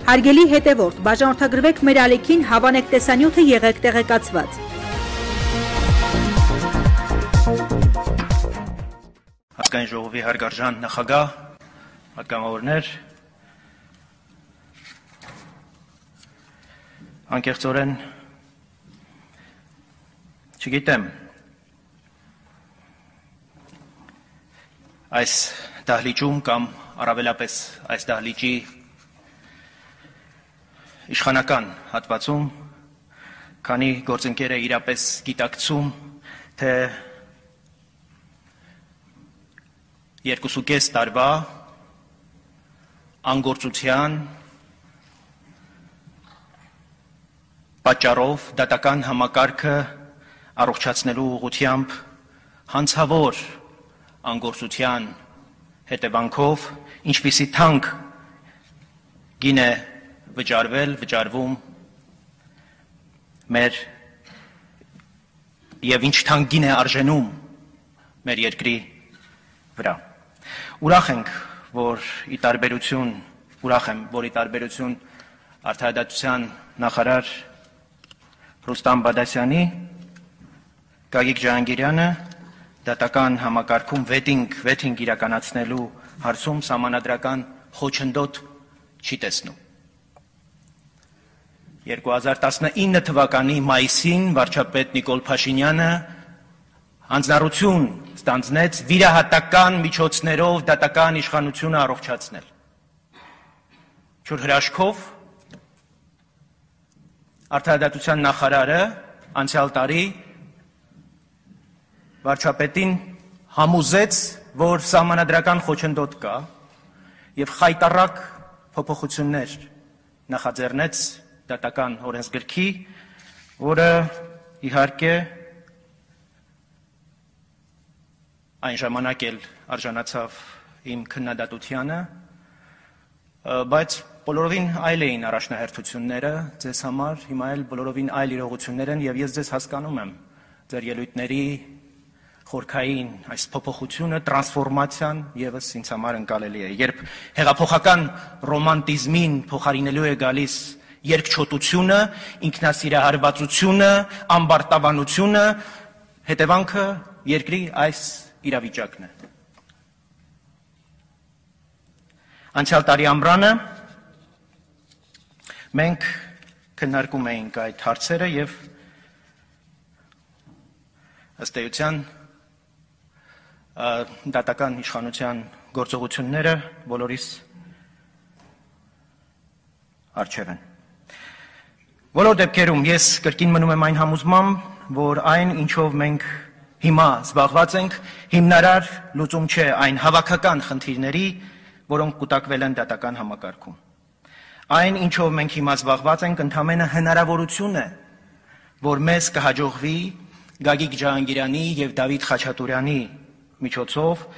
Հարգելի հետևորդ, բաժանորդագրվեք մեր ալիքին, հավանեք տեսանյութը, եղեք տեղեկացված։ Ազգային ժողովի հարգարժան նախագահ, պատգամավորներ, անկեղծորեն չգիտեմ այս դահլիճում կամ առավելապես այս դահլիճի իշխանական հատվածում, քանի գործընկերը իրապես գիտակցում, թե 2.5 տարվա անգործության պատճառով դատական համակարգը առողջացնելու ուղղությամբ հանցավոր անգործության հետևանքով ինչպիսի թանկ գին է վճարվում մեր եւ ինչ թանկ գին է արժենում մեր երկրի վրա։ Ուրախ եմ, որ ի տարբերություն արդարադատության նախարար Ռուստամ Բադասյանի, Գագիկ Ջահանգիրյանը դատական համակարգում վեթինգ իրականացնելու հարցում սահմանադրական խոչընդոտ չի տեսնում։ 2019 թվականի մայիսին վարչապետ Նիկոլ Փաշինյանը հանձնառություն ստանձնեց վիրահատական միջոցներով դատական իշխանությունը առողջացնել։ Չոր հրաշքով արդարադատության նախարարը անցյալ տարի վարչապետին համոզեց, որ սահմանադրական խոչընդոտ կա եւ խայտառակ փոփոխություններ նախաձեռնեց դատական օրենսգրքի, որը իհարկե այն ժամանակ էլ արժանացավ իմ քննադատությանը, բայց բոլորովին այլ էին առաջնահերթությունները ձեզ համար, հիմա էլ բոլորովին այլ իրողություններ են եւ ես ձեզ հասկանում եմ ձեր ելույթների խորքային այս փոփոխությունը, տրանսֆորմացիան եւս ինձ համար ընկալելի է։ Երբ հեղափոխական ռոմանտիզմին փոխարինելու է գալիս երկչոտությունը, ինքնասիրահարվածությունը, ամբարտավանությունը, հետևանքը երկրի այս իրավիճակն է։ Անցյալ տարի ամռանը մենք քննարկում էինք այդ հարցերը եւ ըստ էության դատական իշխանության գործողությունները բոլորիս առջև են։ Բոլոր դեպքերում ես կրկին մնում եմ այն համոզմամբ, որ այն, ինչով մենք հիմա զբաղված ենք, հիմնարար լուծում չէ այն հավաքական խնդիրների, որոնք կուտակվել են դատական համակարգում։ Այն, ինչով մենք հիմա զբաղված ենք, ընդամենը հնարավորություն է, որ մեզ կհաջողվի Գագիկ Ջահանգիրյանի եւ Դավիթ Խաչատուրյանի միջոցով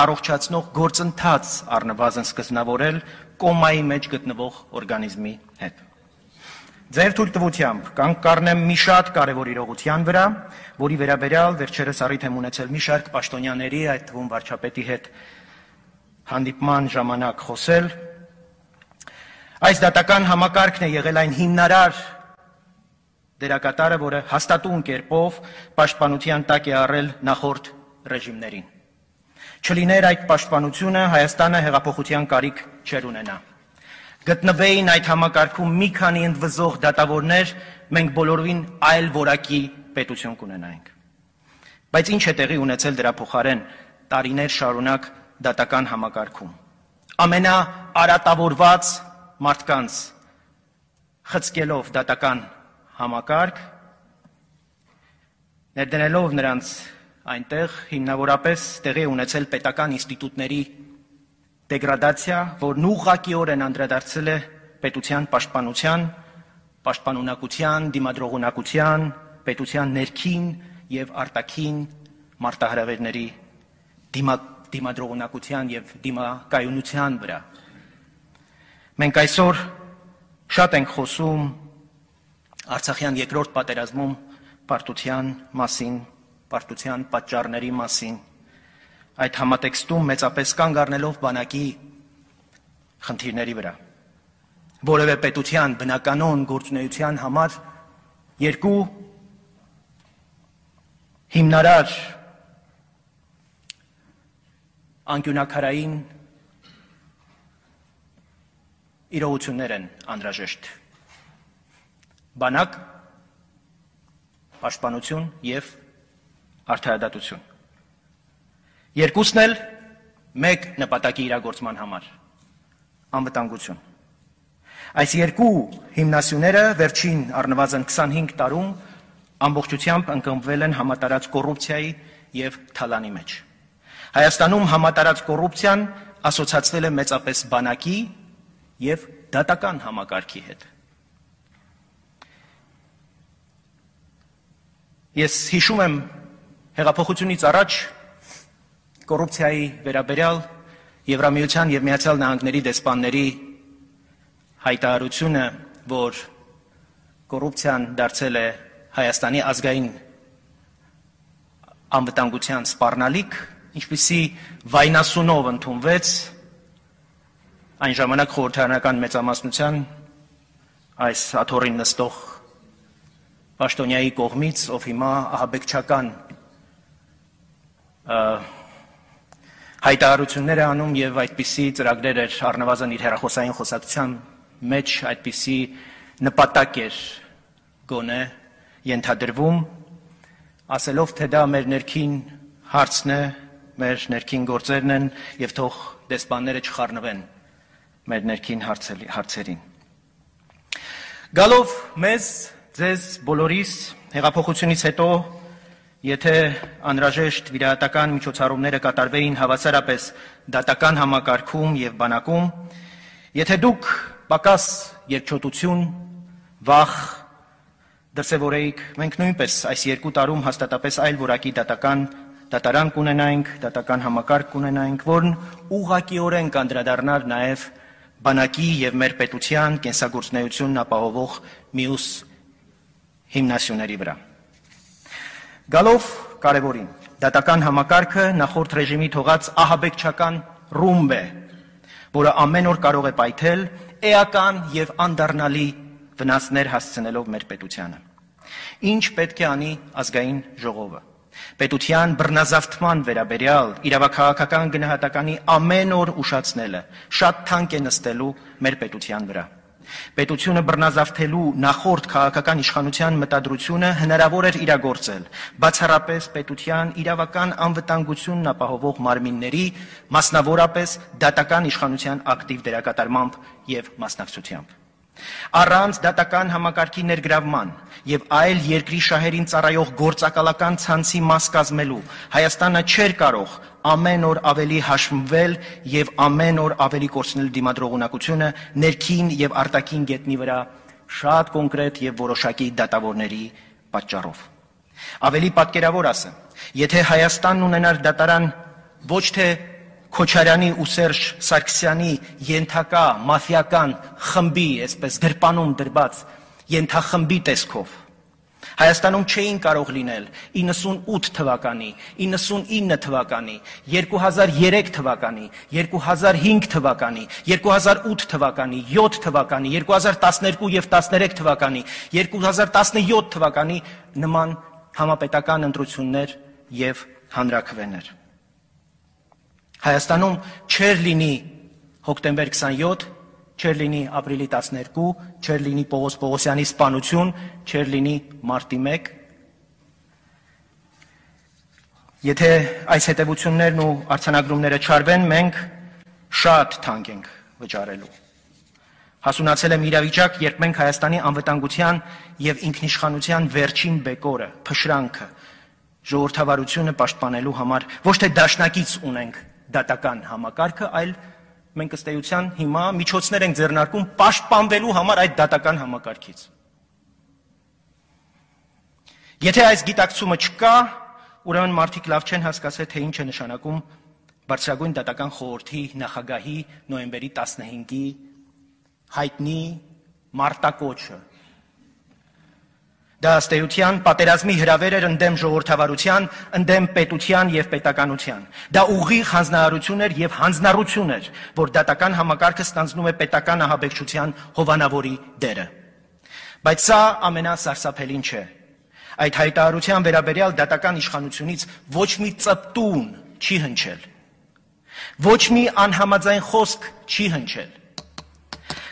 առողջացնող գործընթաց առնվազն սկզբնավորել կոմայի մեջ գտնվող օրգանիզմի հետ։ Ձեր թույլտվությամբ կառնեմ մի շատ կարևոր իրողության վրա, որի վերաբերյալ վերջերս առիթ եմ ունեցել մի շարք պաշտոնյաների, այդ թվում վարչապետի հետ հանդիպման ժամանակ խոսել։ Այս դատական համակարգն է եղել այն հիմնարար դերակատարը, որը հաստատուն կերպով պաշտպանության տակ է առել նախորդ ռեժիմներին։ Չլիներ այդ պաշտպանությունը, Հայաստանը հեղափոխության կարիք չէր ունենա։ Գտնվեին այդ համակարգում մի քանի ընդվզող դատավորներ, մենք բոլորովին այլ որակի պետություն կունենայինք։ Բայց ինչ է տեղի ունեցել դրա փոխարեն տարիներ շարունակ դատական համակարգում։ Ամենաարատավորված մարդկանց խցկելով դատական համակարգ, ներդնելով նրանց այնտեղ հիմնավորապես տեղի ունեցել պետական ինստիտուտների դեգրադացիա, որն ուղղակիորեն անդրադարձել է պետության պաշտպանության, պաշտպանունակության, դիմադրողունակության, պետության ներքին եւ արտաքին մարտահրավերների դիմադրողունակության եւ դիմակայունության վրա։ Մենք այսօր շատ ենք խոսում Արցախյան երկրորդ պատերազմում պարտության մասին, պարտության պատճառների մասին, այդ համատեքստում մեծապես կանգ առնելով բանակի խնդիրների վրա։ որևէ պետության բնականոն գործունեության համար երկու հիմնարար անկյունակարային իրողություններ են անհրաժեշտ. բանակ, պաշտպանություն և արդարադատություն։ Երկուսն էլ մեկ նպատակի իրագործման համար՝ անվտանգություն։ Այս երկու հիմնասյուները վերջին առնվազն 25 տարում ամբողջությամբ ընկղմվել են համատարած կոռուպցիայի և թալանի մեջ։ Հայաստանում համատարած կոռուպցիան ասոցացվել է մեծապես բանակի և դատական համակարգի հետ։ Ես հիշում եմ հեղափոխությունից առաջ կոռուպցիայի վերաբերյալ Եվրամիության և Միացյալ Նահանգների դեսպանների հայտարարությունը, որ կոռուպցիան դարձել է Հայաստանի ազգային անվտանգության սպառնալիք, ինչպիսի վայնասունով ընդունվեց այն ժամանակ խորհրդարանական մեծամասնության այս աթոռին նստող պաշտոնյայի կողմից, ով հիմա ահաբեկչական հայտարարություններ է անում և այդպիսի ծրագրեր էր առնվազն իր հեռախոսային խոսակցության մեջ այդպիսի նպատակ էր գոնե ենթադրվում, ասելով, թե դա մեր ներքին հարցն է, մեր ներքին գործերն են և թող դեսպանները չխառնվեն մեր ներքին հարցերին։ Գալով մեզ, ձեզ բոլորիս հեղափոխությունից հետո, եթե անհրաժեշտ վիրահատական միջոցառումները կատարվեին հավասարապես դատական համակարգում և բանակում, եթե դուք պակաս երկչոտություն, վախ դրսևորեիք, մենք նույնպես այս 2 տարում հաստատապես այլ որակի դատարան կունենայինք, դատական համակարգ կունենայինք, որն ուղղակիորեն կանդրադառնար նաև բանակի և մեր պետության կենսագործունեությունն ապահովող մյուս հիմնասյուների վրա։ Գալով կարևորին, դատական համակարգը նախորդ ռեժիմի թողած ահաբեկչական ռումբ է, որը ամեն օր կարող է պայթել էական և անդառնալի վնասներ հասցնելով մեր պետությանը։ Ինչ պետք է անի ազգային ժողովը։ Պետության բռնազավթման վերաբերյալ իրավաքաղաքական գնահատականի ամեն օր ուշացնելը շատ թանկ է նստելու մեր պետության վրա։ Պետությունը բռնազավթելու նախորդ քաղաքական իշխանության մտադրությունը հնարավոր էր իրագործել բացառապես պետության իրավական անվտանգությունն ապահովող մարմինների, մասնավորապես դատական իշխանության ակտիվ դերակատարմամբ և մասնակցությամբ։ Առանց դատական համակարգի ներգրավման և այլ երկրի շահերին ծառայող գործակալական ցանցի մաս կազմելու Հայաստանը չէր կարող ամեն օր ավելի հաշմվել և ամեն օր ավելի կորցնել դիմադրողունակությունը ներքին և արտաքին գետնի վրա շատ կոնկրետ և որոշակի դատավորների պատճառով։ Ավելի պատկերավոր ասեմ, եթե Հայաստանն ունենար դատարան ոչ թե Քոչարյանի ու Սերժ Սարգսյանի ենթակա մաֆիական խմբի, այսպես գրպանում դրված ենթախմբի տեսքով, Հայաստանում չէին կարող լինել 98 թվականի, 99 թվականի, 2003 թվականի, 2005 թվականի, 2008 թվականի, 7 թվականի, 2012 և 13 թվականի, 2017 թվականի նման համապետական ընտրություններ և հանրաքվեներ։ Հայաստանում չեր լինի հոկտեմբեր 27, չեր լինի ապրիլի 12, չեր լինի Պողոս Պողոսյանի սպանություն, չեր լինի մարտի 1։ Եթե այս հետևություններն ու արձանագրումները չարվեն, մենք շատ թանկ ենք վճարելու։ Հասունացել եմ իրավիճակ, երբ մենք Հայաստանի անվտանգության և ինքնիշխանության վերջին բեկորը, փշրանքը, ժողովրդավարությունը պաշտպանելու համար ոչ թե դաշնակից ունենք դատական համակարգը, այլ մենք ըստ էության հիմա միջոցներ ենք ձեռնարկում պաշտպանվելու համար այդ դատական համակարգից։ Եթե այս գիտակցումը չկա, ուրեմն մարդիկ լավ չեն հասկացել, թե ինչ է նշանակում Բարձրագույն դատական խորհրդի նախագահի նոյեմբերի 15-ի հայտնի մարտակոչը։ Դա ըստ էության պատերազմի հրավեր էր ընդդեմ ժողովրդավարության, ընդդեմ պետության եւ պետականության։ Դա ուղիղ հանձնարարություն էր եւ հանձնառություն էր, որ դատական համակարգը ստանձնում է պետական ահաբեկչության հովանավորի դերը։ Բայց սա ամենասարսափելին չէ։ Այդ հայտարարության վերաբերյալ դատական իշխանությունից ոչ մի ծպտուն չի հնչել։ Ոչ մի անհամաձայն խոսք չի հնչել։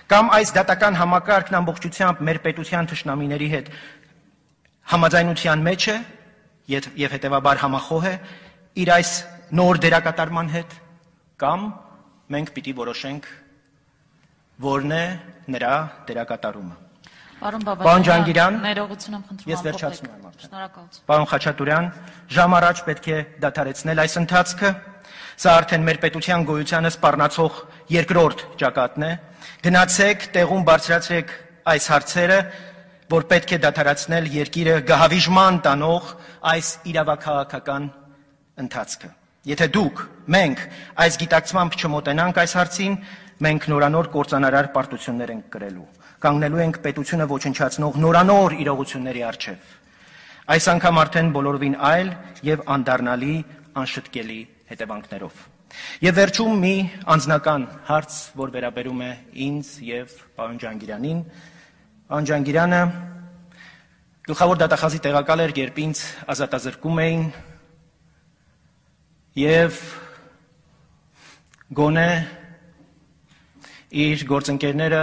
Կամ այս դատական համակարգն ամբողջությամբ մեր պետության թշնամիների հետ համաձայնության մեջ է եւ հետեւաբար համախոհ է իր այս նոր դերակատարման հետ, կամ մենք պիտի որոշենք որն է նրա դերակատարումը։ Պարոն Ջանգիրյան, ներողություն եմ խնդրում, ես վերջացնում եմ արդեն։ Շնորհակալություն։ Պարոն Խաչատուրյան, ժամ առաջ պետք է դադարեցնել այս ընթացքը։ Սա արդեն մեր պետության գոյությանը սպառնացող երկրորդ ճակատն է։ Գնացեք, տեղում բարձրացրեք այս հարցերը, որ պետք է դադարեցնել երկիրը գահավիժման տանող այս իրավաքաղաքական ընթացքը։ Եթե դուք, մենք այս գիտակցմամբ չմոտենանք այս հարցին, մենք նորանոր կործանարար պարտություններ ենք կրելու, կանգնելու ենք պետությունը ոչնչացնող նորանոր իրողությունների առջև։ Այս անգամ արդեն բոլորովին այլ եւ անդառնալի, անշտկելի հետևանքներով։ Եվ վերջում մի անձնական հարց, որ վերաբերում է ինձ եւ պարոն Ջանգիրանին։ Պարոն Ջանգիրանը գլխավոր դատախազի տեղակալ էր, երբ ինձ ազատազրկում էին եւ գոնե իր գործընկերները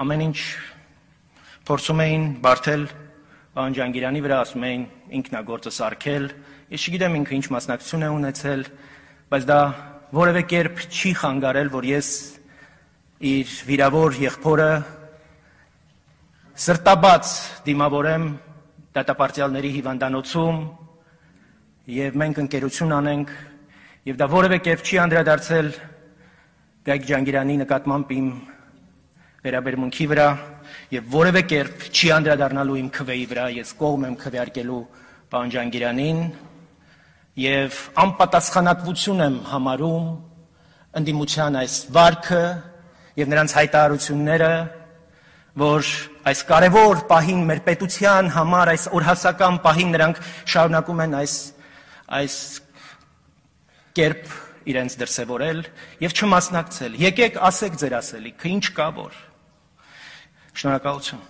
ամեն ինչ փորձում էին բարթել պարոն Ջանգիրանի վրա, ասում էին ինքն է գործը սարքել։ Ես չգիտեմ ինքը ինչ մասնակցություն է ունեցել, բայց դա որևէ կերպ չի խանգարել, որ ես իր վիրավոր եղբորը սրտաբաց դիմավորեմ դատապարտյալների հիվանդանոցում եւ մենք ընկերություն անենք եւ դա որևէ կերպ չի անդրադարձել Գայք Ջանգիրանի նկատմամբ իմ վերաբերմունքի վրա եւ որևէ կերպ չի անդրադառնալու իմ քվեի վրա, ես կողմ եմ քվեարկելու պարոն Ջանգիրանին եւ անպատասխանատվություն եմ համարում ընդդիմության այս վարքը եւ նրանց հայտարարությունները, որ այս կարևոր պահին մեր պետության համար, այս օրհասական պահին նրանք շարունակում են այս կերպ իրենց դրսևորել եւ չմասնակցել։ Եկեք ասեք ձեր ասելիքը, ինչ կա որ։ Շնորհակալություն։